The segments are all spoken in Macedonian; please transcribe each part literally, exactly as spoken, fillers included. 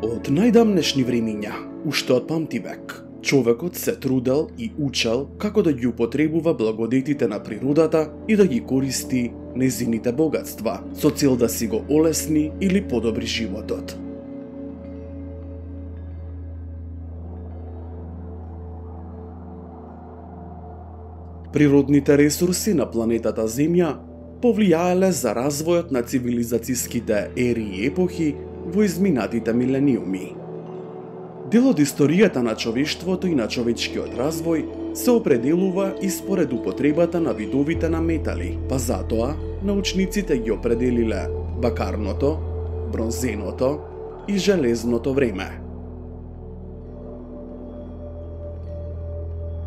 Од најдамнешни времиња, уште од памтивек, човекот се трудел и учел како да ги употребува благодетите на природата и да ги користи незините богатства, со цел да си го олесни или подобри животот. Природните ресурси на планетата Земја повлијаеле за развојот на цивилизацијските ери и епохи во изминатите милениуми. Дел од историјата на човештвото и на човечкиот развој се определува и според употребата на видовите на метали, па затоа научниците ги определиле бакарното, бронзеното и железното време.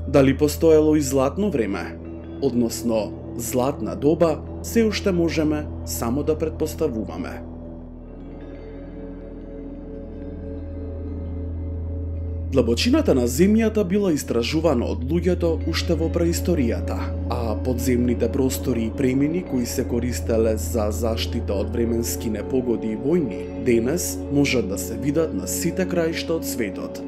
Дали постоело и златно време, односно златна доба, се уште можеме само да претпоставуваме. Длабочината на земјата била истражувана од луѓето уште во преисторијата, а подземните простори и премини кои се користеле за заштита од временски непогоди и војни, денес можат да се видат на сите краишта од светот.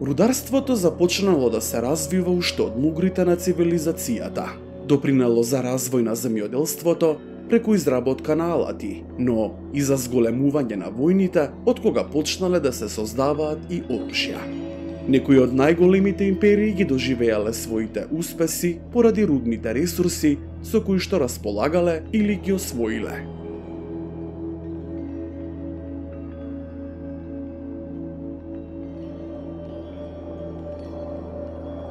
Рударството започнало да се развива уште од мугрите на цивилизацијата. Допринело за развој на земјоделството преку изработка на алати, но и за зголемување на војните, од кога почнале да се создаваат и оружја. Некои од најголемите империи ги доживеале своите успеси поради рудните ресурси со кои што располагале или ги освоиле.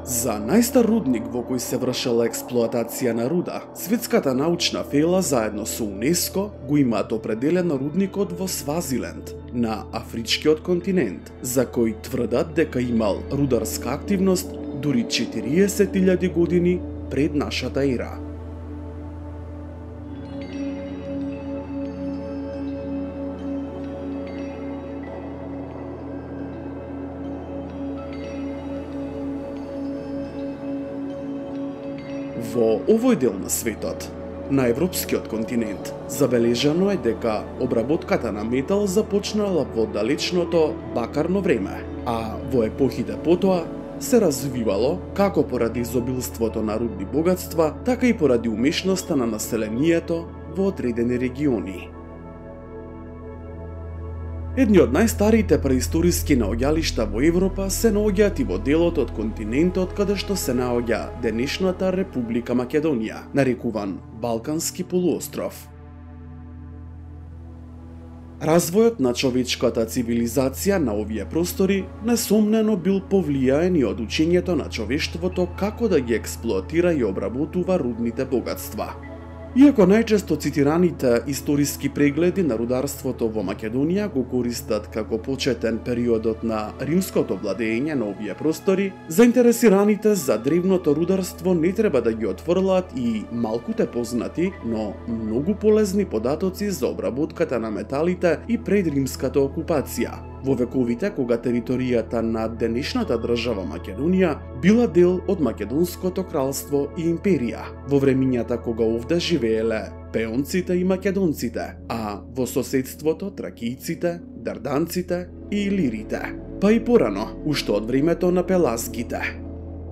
За најстар рудник во кој се вршела експлоатација на руда, светската научна фела заедно со УНЕСКО го имаат определено рудникот во Свазиленд, на Афричкиот континент, за кој тврдат дека имал рударска активност дури четириесет илјади години пред нашата ера. Во овој дел на светот, на европскиот континент, забележано е дека обработката на метал започнала во далечното бакарно време, а во епохите потоа се развивало како поради изобилството на рудни богатства, така и поради умешноста на населението во одредени региони. Едни од најстарите преисториски наоѓалишта во Европа се наоѓаат и во делот од континентот каде што се наоѓа денешната Република Македонија, нарекуван Балкански полуостров. Развојот на човечката цивилизација на овие простори несомнено бил повлијаен и од учењето на човештвото како да ги експлоатира и обработува рудните богатства. Иако најчесто цитираните историски прегледи на рударството во Македонија го користат како почетен периодот на римското владење на овие простори, заинтересираните за древното рударство не треба да ги отфрлаат и малкуте познати, но многу полезни податоци за обработката на металите и пред римската окупација, во вековите кога територијата на денешната држава Македонија била дел од Македонското кралство и империја, во времињата кога овде живееле пеонците и македонците, а во соседството тракијците, дарданците и илирите, па и порано, уште од времето на пелазгите.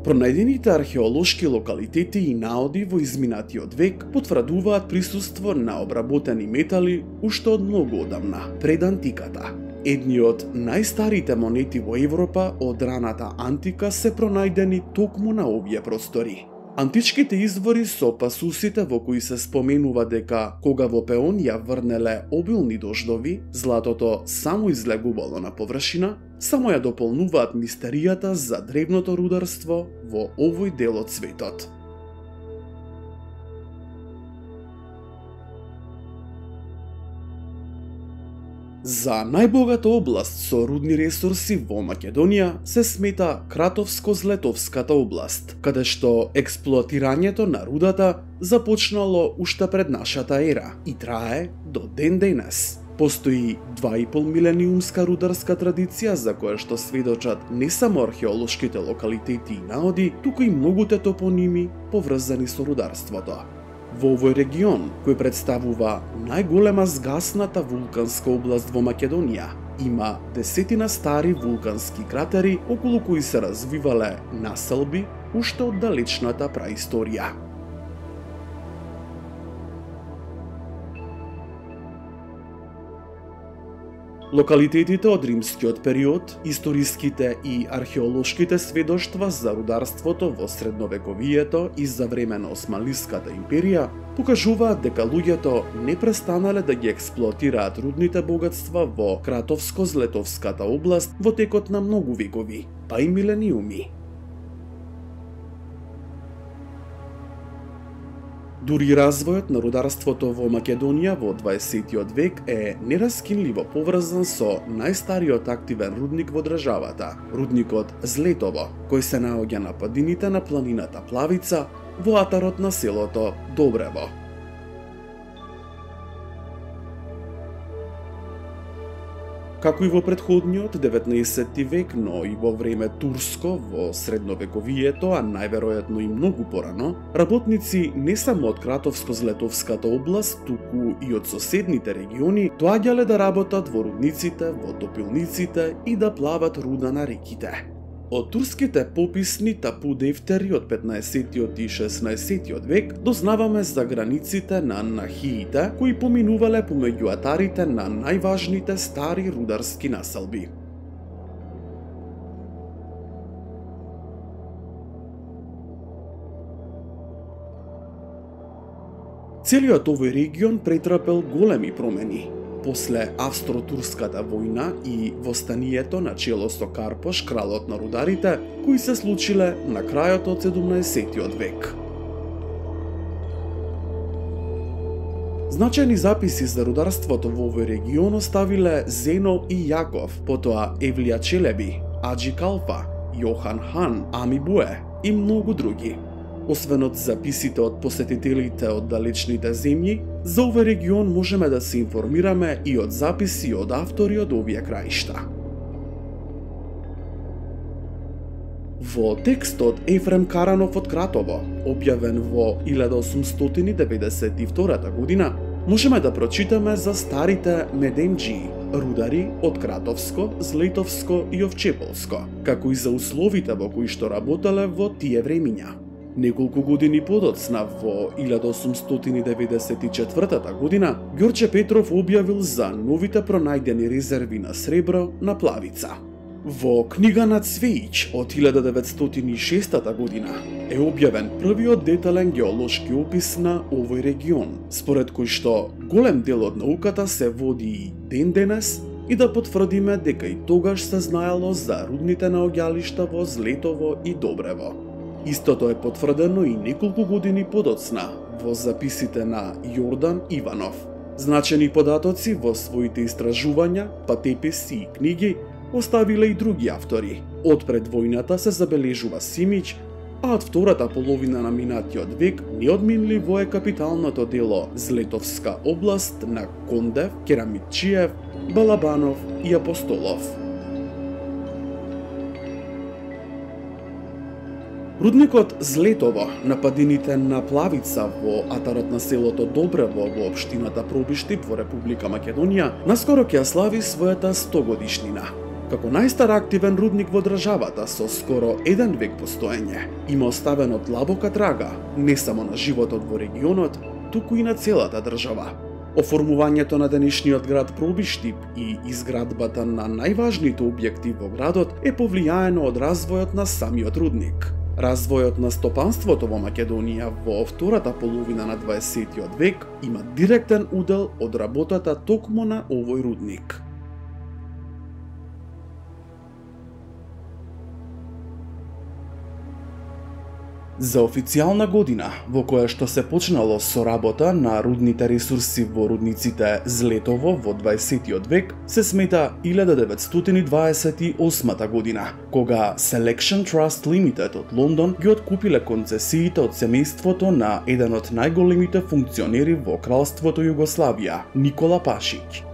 Пронајдените археолошки локалитети и наоди во изминатиот век потврдуваат присуство на обработени метали уште од многу одамна, пред антиката. Едни од најстарите монети во Европа од раната антика се пронајдени токму на овие простори. Античките извори со пасусите во кои се споменува дека кога во Пеонија врнеле обилни дождови, златото само излегувало на површина, само ја дополнуваат мистеријата за древното рударство во овој дел од светот. За најбогата област со рудни ресурси во Македонија се смета Кратовско-Злетовската област, каде што експлоатирањето на рудата започнало уште пред нашата ера и трае до ден денес. Постои два и пол милениумска рударска традиција за која што сведочат не само археолошките локалитети и наоди, туку и многуте топоними поврзани со рударството. Во овој регион, кој представува најголема згасната вулканска област во Македонија, има десетина стари вулкански кратери околу кои се развивале населби уште од далечната праисторија. Локалитетите од римскиот период, историските и археолошките сведоштва за рударството во средновековието и за време на Османлиската империја покажуваат дека луѓето не престанале да ги експлоатираат рудните богатства во Кратовско-Злетовската област во текот на многу векови, па и милениуми. Дури развојот на рударството во Македонија во дваесеттиот век е нераскинливо поврзан со најстариот активен рудник во државата, рудникот Злетово, кој се наоѓа на падините на планината Плавица во атарот на селото Добрево. Како и во претходниот деветнаесетти век, но и во време турско, во средновековието, а најверојатно и многу порано, работници не само од Кратовско-Злетовската област, туку и од соседните региони, доаѓале да работат во рудниците, во топилниците и да плават руда на реките. Од турските пописни тапу дефтери од петнаесеттиот и шеснаесеттиот век дознаваме за границите на нахиите кои поминувале помеѓу атарите на најважните стари рударски населби. Целиот овој регион претрпел големи промени. После Австро-турската војна и востанието на чело со Карпош, кралот на рударите, кои се случиле на крајот од седумнаесеттиот век. Значајни записи за рударството во овој регион оставиле Зено и Јаков, потоа Евлија Челеби, Аџи Калфа, Јохан Хан, Ами Буе и многу други. Освен од записите од посетителите од далечните земји, за овој регион можеме да се информираме и од записи од автори од овие краишта. Во текстот Ефрем Каранов од Кратово, објавен во илјада осумстотини деветдесет и втора година, можеме да прочитаме за старите медемџии, рудари од Кратовско, Злетовско и Овчеполско, како и за условите во кои што работеле во тие времиња. Неколку години подоцна, во илјада осумстотини деветдесет и четврта година, Ѓорче Петров објавил за новите пронајдени резерви на сребро на Плавица. Во книга на Цвеич од илјада деветстотини и шеста година е објавен првиот детален геолошки опис на овој регион, според кој што голем дел од науката се води и ден денес, и да потврдиме дека и тогаш се знаело за рудните наоѓалишта во Злетово и Добрево. Истото е потврдено и неколку години подоцна во записите на Јордан Иванов. Значени податоци во своите истражувања, патеписи и книги оставиле и други автори. Од пред војната се забележува Симиќ, а од втората половина на минатиот век неодминливо е капиталното дело Злетовска област на Кондев, Керамитчиев, Балабанов и Апостолов. Рудникот Злетово на падините на Плавица во атарот на селото Добрево во општината Пробишти во Република Македонија наскоро ќе ја слави својата сто годишнина. Како најстар активен рудник во државата со скоро еден век постоење, има оставено длабока трага не само на животот во регионот, туку и на целата држава. Оформувањето на денешниот град Пробишти и изградбата на најважните објекти во градот е повлијаено од развојот на самиот рудник. Развојот на стопанството во Македонија во втората половина на дваесеттиот век има директен удел од работата токму на овој рудник. За официјална година во која што се почнало со работа на рудните ресурси во рудниците Злетово во дваесеттиот век се смета илјада деветстотини дваесет и осма година, кога Selection Trust Limited од Лондон ги откупиле концесиите од семејството на еден од најголемите функционери во кралството Југославија, Никола Пашиќ.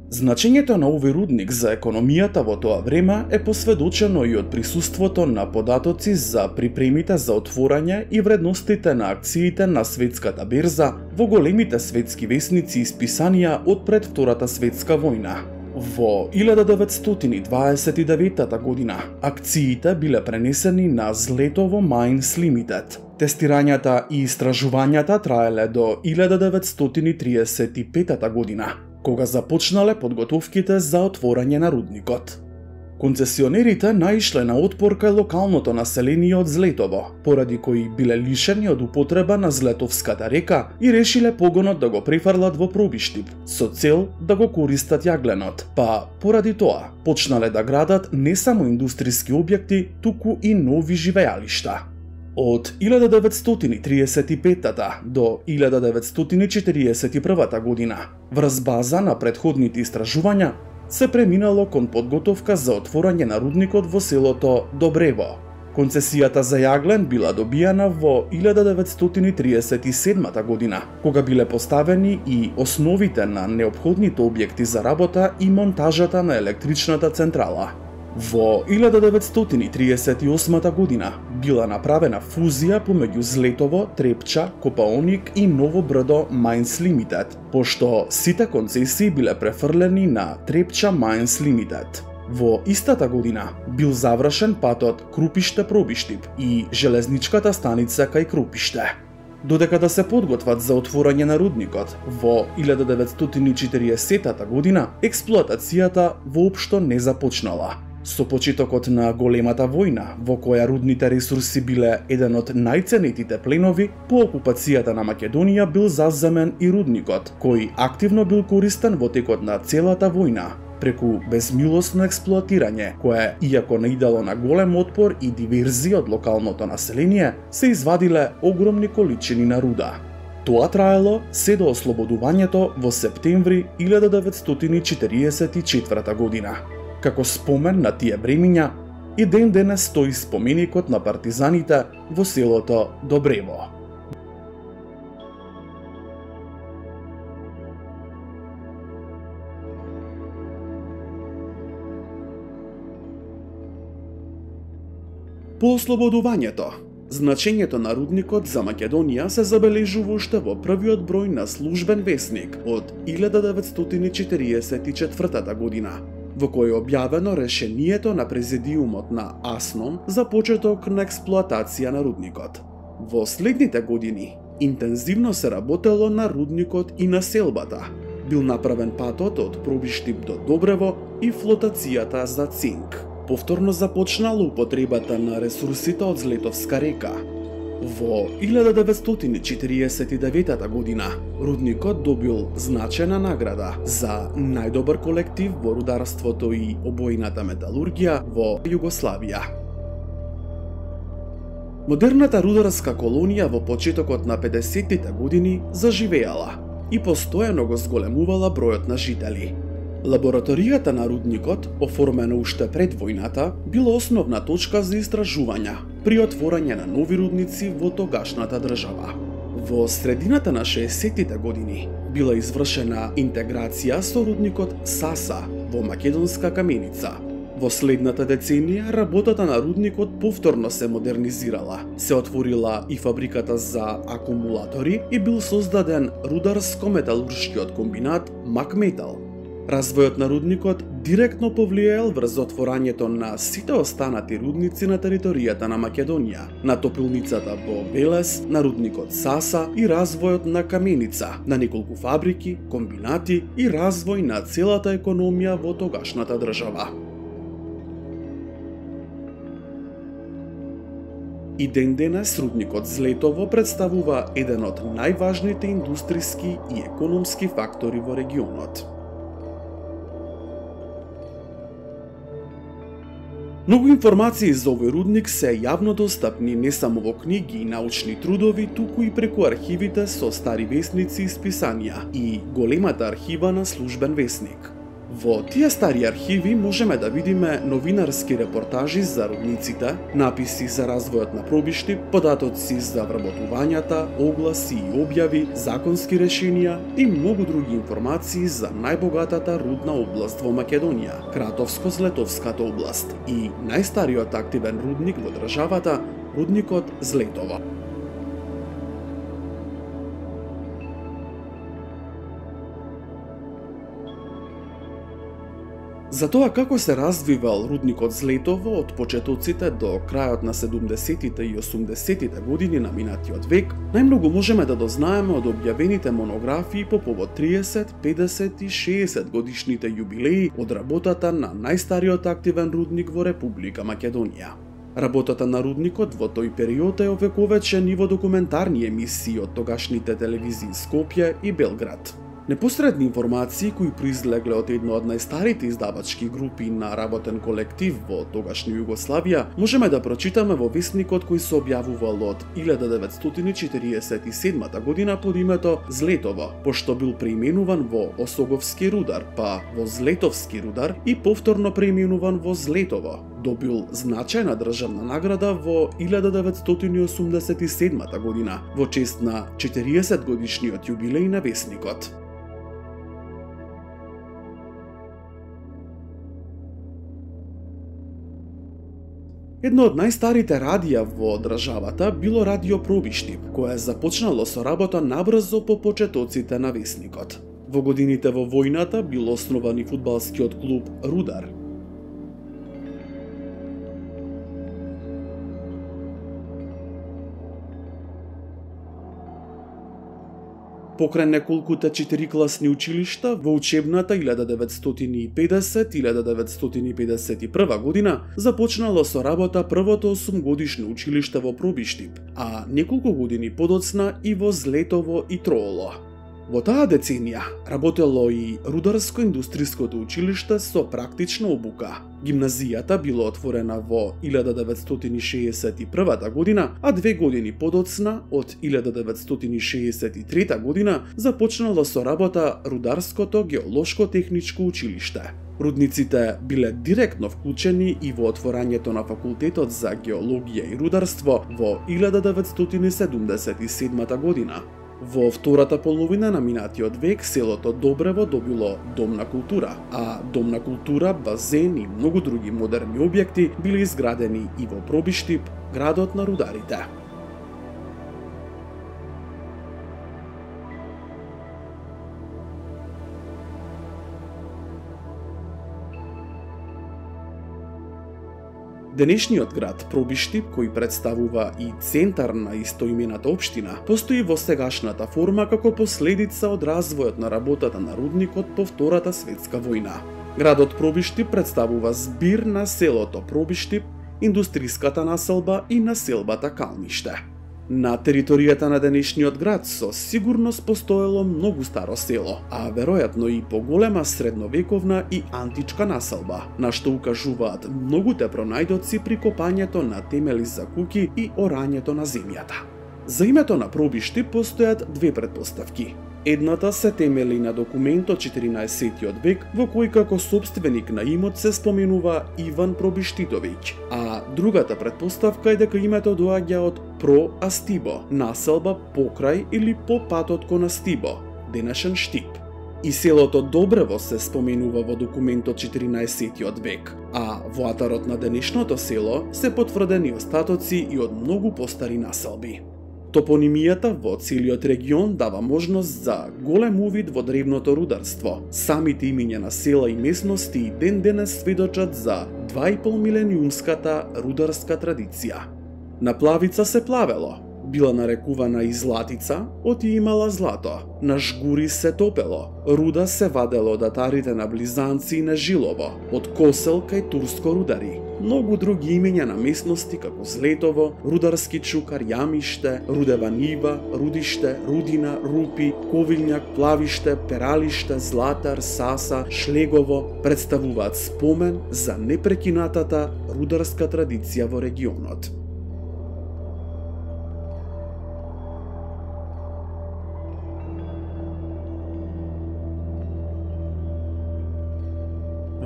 Значењето на овој рудник за економијата во тоа време е посведочено и од присуството на податоци за припремите за отворање и вредностите на акциите на светската берза во големите светски весници и списанија од пред Втората светска војна. Во илјада деветстотини дваесет и девета година акциите биле пренесени на Злетово Мајнс Лимитед. Тестирањата и истражувањата траеле до илјада деветстотини триесет и пета година, кога започнале подготовките за отворање на рудникот. Концесионерите наишле на отпор кај локалното население од Злетово, поради кои биле лишени од употреба на Злетовската река и решиле погонот да го префрлат во Пробиштип, со цел да го користат јагленот, па поради тоа почнале да градат не само индустријски објекти, туку и нови живеалишта. Од илјада деветстотини триесет и пета до илјада деветстотини четириесет и прва година, врз база на претходните истражувања, се преминало кон подготовка за отворање на рудникот во селото Добрево. Концесијата за јаглен била добијана во илјада деветстотини триесет и седма година, кога биле поставени и основите на неопходните објекти за работа и монтажата на електричната централа. Во илјада деветстотини триесет и осма година била направена фузија помеѓу Злетово, Трепча, Копаоник и Ново Брдо Мајнс Лимитед, пошто сите концесии биле префрлени на Трепча Мајнс Лимитед. Во истата година бил завршен патот Крупиште-Пробиштип и железничката станица кај Крупиште. Додека да се подготват за отворање на рудникот, во илјада деветстотини четириесета година експлоатацијата воопшто не започнала. Со почетокот на големата војна, во која рудните ресурси биле еден од најценетите пленови, по окупацијата на Македонија бил заземен и рудникот, кој активно бил користен во текот на целата војна, преку безмилосно експлоатирање, кое, иако наидало на голем отпор и диверзија од локалното население, се извадиле огромни количини на руда. Тоа траело се до ослободувањето во септември илјада деветстотини четириесет и четврта година. Како спомен на тие времиња, и ден денес стои споменикот на партизаните во селото Добрево. По ослободувањето, значењето на рудникот за Македонија се забележува уште во првиот број на службен весник од илјада деветстотини четириесет и четврта година, во кој е објавено решението на президиумот на АСНОМ за почеток на експлоатација на рудникот. Во следните години интензивно се работело на рудникот и на селбата. Бил направен патот од Пробиштип до Добрево и флотацијата за цинк. Повторно започнала употребата на ресурсите од Злетовска река. Во илјада деветстотини четириесет и девета година рудникот добил значајна награда за најдобар колектив во рударството и обојната металургија во Југославија. Модерната рударска колонија во почетокот на педесеттите години заживеала и постојано го зголемувала бројот на жители. Лабораторијата на рудникот, оформена уште пред војната, била основна точка за истражувања при отворање на нови рудници во тогашната држава. Во средината на шеесеттите години била извршена интеграција со рудникот Саса во Македонска каменица. Во следната деценија работата на рудникот повторно се модернизирала. Се отворила и фабриката за акумулатори и бил создаден рударско-металуршкиот комбинат Макметал. Развојот на рудникот директно повлијаел врз отворањето на сите останати рудници на територијата на Македонија, на топилницата во Велес, на рудникот Саса и развојот на Каменица, на неколку фабрики, комбинати и развој на целата економија во тогашната држава. И ден денес рудникот Злетово представува еден од најважните индустријски и економски фактори во регионот. Многу информации за овој рудник се јавно достапни не само во книги и научни трудови, туку и преку архивите со стари весници и списанија и големата архива на службен весник. Во тие стари архиви можеме да видиме новинарски репортажи за рудниците, написи за развојот на пробишти, податоци за вработувањата, огласи и објави, законски решенија и многу други информации за најбогатата рудна област во Македонија, Кратовско-Злетовската област и најстариот активен рудник во државата, рудникот Злетово. За тоа како се развивал рудникот Злетово од почетоците до крајот на седумдесетите и осумдесетите години на минатиот век, најмногу можеме да дознаеме од објавените монографии по повод триесет, педесет и шеесет годишните јубилеи од работата на најстариот активен рудник во Република Македонија. Работата на рудникот во тој период е овековечен и во документарни емисии од тогашните телевизии Скопје и Белград. Непосредни информации кои произлегле од една од најстарите издавачки групи на работен колектив во тогашна Југославија можеме да прочитаме во весникот кој се објавувал од илјада деветстотини четириесет и седма година под името Злетово, пошто бил преименуван во Осоговски рудар, па во Злетовски рудар и повторно преименуван во Злетово. Добил значајна државна награда во илјада деветстотини осумдесет и седма година во чест на четириесет годишниот јубилеј на весникот. Едно од најстарите радија во државата било Радио Пробишти, кое започнало со работа набрзо по почетоците на весникот. Во годините во војната бил основан и фудбалскиот клуб Рудар. Покрај неколкуте четирикласни училишта во учебната илјада деветстотини и педесет - илјада деветстотини и педесет и прва година започнало со работа првото осумгодишно училиште во Пробиштип, а неколку години подоцна и во Злетово и Трооло. Во таа деценија работело и Рударско-индустријското училиште со практична обука. Гимназијата било отворена во илјада деветстотини шеесет и прва година, а две години подоцна, од илјада деветстотини шеесет и трета година, започнало со работа Рударското геолошко-техничко училиште. Рудниците биле директно вклучени и во отворањето на факултетот за геологија и рударство во илјада деветстотини седумдесет и седма година. Во втората половина на минатиот век селото Добрево добило дом на култура, а дом на култура, базен и многу други модерни објекти биле изградени и во Пробиштип, градот на рударите. Денешниот град Пробиштип, кој представува и центар на истоимената општина, постои во сегашната форма како последица од развојот на работата на рудникот по Втората светска војна. Градот Пробиштип представува збир на селото Пробиштип, индустриската населба и населбата Калниште. На територијата на денешниот град со сигурност постоело многу старо село, а веројатно и поголема средновековна и античка населба, на што укажуваат многуте пронајдоци при копањето на темели за куќи и орањето на земјата. За името на Пробишти постојат две претпоставки. Едната се темели на документ од четиринаесеттиот век во кој како сопственик на имот се споменува Иван Пробиштитовиќ, а другата претпоставка е дека името доаѓа од Про Астибо, населба покрај или по патот кон Астибо, денешен Штип. И селото Добрево се споменува во документ од четиринаесеттиот век, а во атарот на денешното село се потврдени остатоци и од многу постари населби. Топонимијата во целиот регион дава можност за голем увид во древното рударство. Самите имиња на села и местности и ден денес сведочат за два и пол милениумската рударска традиција. На Плавица се плавело, била нарекувана и Златица, оти имала злато. На Жгури се топело, руда се вадело од атарите на Близанци и на Жилово, од Косел кај Турско рудари. Многу други имиња на местности како Злетово, Рударски чукар, Јамиште, Рудева нива, Рудиште, Рудина, Рупи, Ковилњак, Плавиште, Пералиште, Златар, Саса, Шлегово представуваат спомен за непрекинатата рударска традиција во регионот.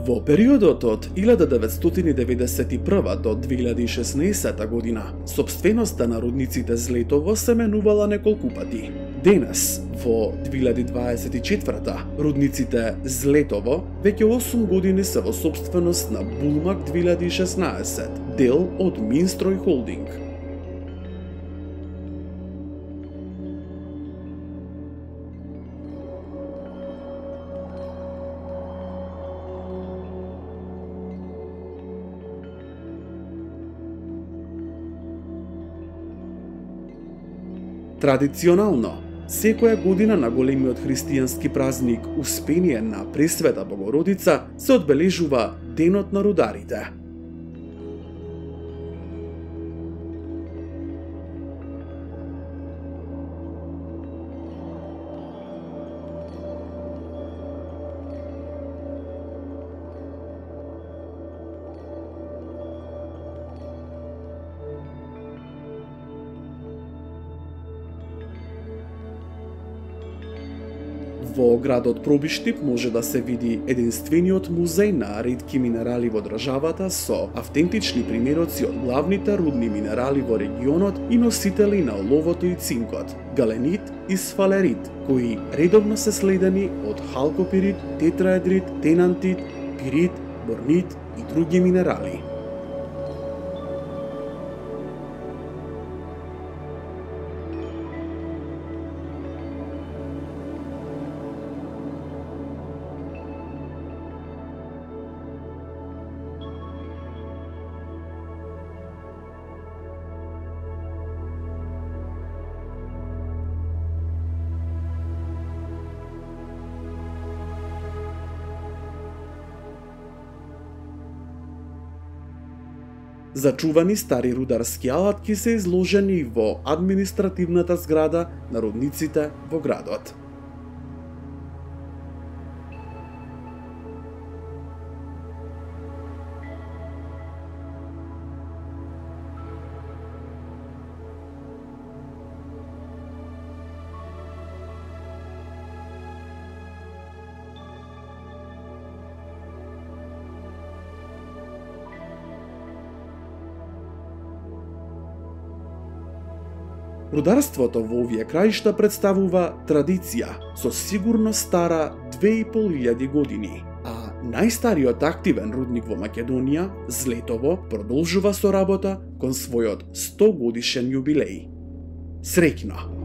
Во периодот од илјада деветстотини деветдесет и прва до две илјади и шеснаесета година, сопственоста на рудниците Злетово се менувала неколку пати. Денес, во две илјади дваесет и четврта, рудниците Злетово веќе осум години се во сопственост на Булмак две илјади и шеснаесет, дел од Минстрој Холдинг. Традиционално, секоја година на големиот христијански празник Успение на Пресвета Богородица се одбележува Денот на рударите. Во градот Пробиштип може да се види единствениот музеј на ретки минерали во државата со автентични примероци од главните рудни минерали во регионот и носители на оловото и цинкот, галенит и сфалерит, кои редовно се следени од халкопирит, тетраедрит, тенантит, пирит, борнит и други минерали. Зачувани стари рударски алатки се изложени во административната зграда на рудниците во градот. Рударството во овие краишта представува традиција, со сигурност стара две и пол илјади години, а најстариот активен рудник во Македонија, Злетово, продолжува со работа кон својот сто годишен јубилеј. Среќно!